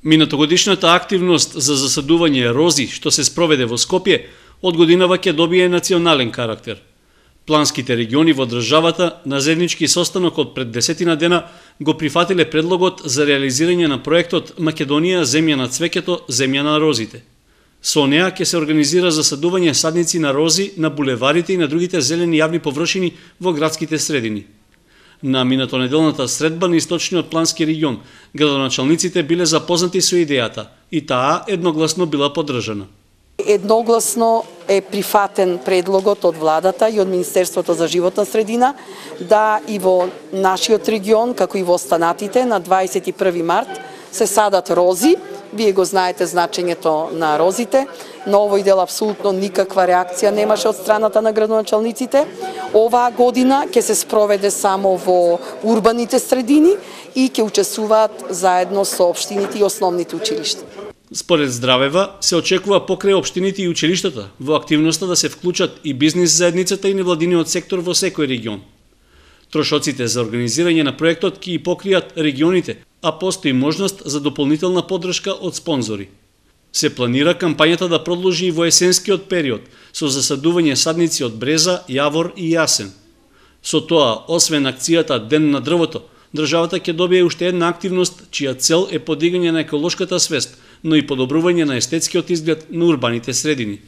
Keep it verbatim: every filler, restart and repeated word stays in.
Минатогодишната активност за засадување рози, што се спроведе во Скопје, од годинава ќе добие национален карактер. Планските региони во државата на заеднички состанок од пред десетина дена го прифатиле предлогот за реализирање на проектот Македонија земја на цвеќето, земја на розите. Со неа ќе се организира засадување садници на рози на булеварите и на другите зелени јавни површини во градските средини. На минатонеделната средба на источниот плански регион, градоначалниците биле запознати со идејата и таа едногласно била поддржана. Едногласно е прифатен предлогот од владата и од Министерството за животна средина да и во нашиот регион, како и во останатите, на дваесет и први март се садат рози. Вие го знаете значењето на розите. На овој дел апсолутно никаква реакција немаше од страната на градоначалниците. Оваа година ќе се спроведе само во урбаните средини и ќе учествуваат заедно со општините и основните училишта. Според Здравева, се очекува покрај општините и училиштата во активноста да се вклучат и бизнис заедницата и невладиниот сектор во секој регион. Трошоците за организирање на проектот ќе и покријат регионите, а постои можност за дополнителна поддршка од спонзори. Се планира кампањата да продолжи и во есенскиот период со засадување садници од бреза, јавор и јасен. Со тоа, освен акцијата Ден на дрвото, државата ќе добие уште една активност чија цел е подигање на еколошката свест, но и подобрување на естетскиот изглед на урбаните средини.